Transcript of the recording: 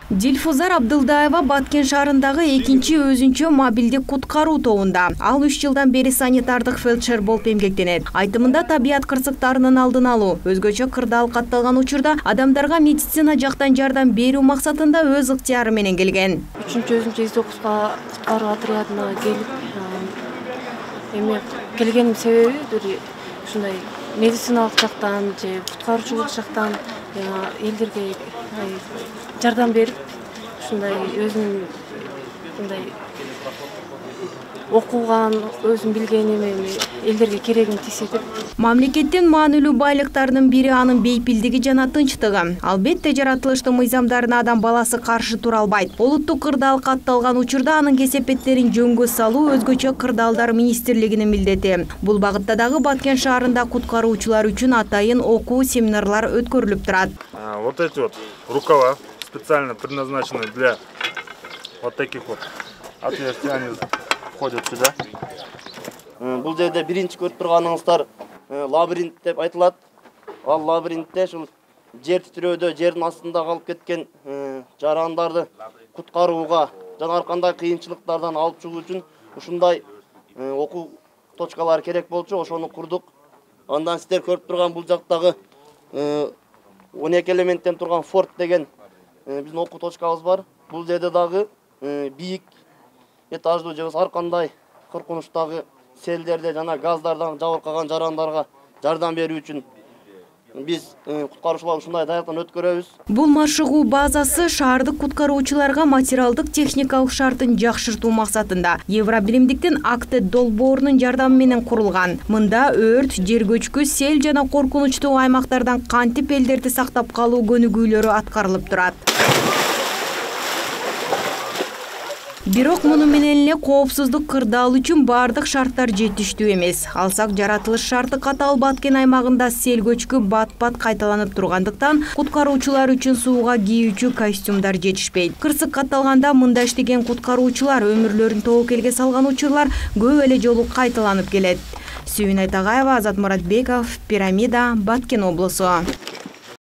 Дилфузар Абдылдаева Баткен шаарындагы экинчи өзүнчө мобилдик куткаруу тобунда. Ал 3 жылдан бери санитардык фельдшер болуп эмгектенет. Айтымында табият кырсыктарынын алдын алуу, өзгөчө кырдаал катталган учурда адамдарга медицина жактан жардам берүү максатында өз ыктыяры менен келген. 3-чү өзүнчө куткаруу отрядына келип, келгеним себеби бир ушундай медициналык жактан же куткаруучулук жактан элдерге жардам берип, ушундай өзүнүн мындай окуган, өзүм билгеним элдерге керегин тийсе деп. Мамлекеттин маанилүү байлыктарынын бири анын бейпилдиги жана тынчтыгы. Албетте жаратылыштын мыйзамдарына адам баласы каршы тура албайт. Олуттук кырдаал катталган учурда анын кесепеттерин жөнгө салуу өзгөчө кырдаалдар министрлигинин милдети. Бул багытта дагы Баткен шаарында куткаруучулар үчүн атайын окуу семинарлар өткөрүлүп турат. Вот эти вот рукава специально предназначены для вот таких вот отверстий, они входят сюда. Бул жерде биринчи көрүп турганыңыздар лабиринт деп айтылат. Ал лабиринтте ушул жер титирөөдө жердин астында калып кеткен жарандарды куткарууга жана ар кандай кыйынчылыктардан алып чыгуу үчүн ушундай окуу точкалары керек болчу, ошону курдук. Андан сиздер көрүп турган бул жактагы 12 элементтен турган форт деген биздин окуу точкабыз бар. Бул жерде дагы бийик этаждуу же ар кандай коркунучтагы селдерде жана газдардан жабыркаган жарандарга жардам берүү үчүн биз куткаруучулар ушундай даяктан өткөрөбүз. Бул машыгуу базасы шаардык куткаруучуларга материалдык техникалык шартын жакшыртуу максатында Евробиримдиктин Актед долбоорунун жардамы менен курулган. Мында өрт, жер көчкү, сел жана коркунучтуу аймактардан кантип элдерди сактап калуу көнүгүүлөрү аткарылып турат. Бирок муну менен эле коопсуздук кырдаал үчүн бардык шарттар жетиштүү эмес. Алсак жаратылыш шарты катал Баткен аймагында сел көчкү бат-бат кайталанып тургандыктан куткаруучулар үчүн сууга кийүүчү костюмдар жетишпейт. Кырсык катталганда мында иштеген куткаруучулар өмүрлөрүн тобокелге салган учурлар көп эле жолу кайталанып келет. Сүйүн Айтагаева, Азат Муратбеков, Пирамида, Баткен облусу.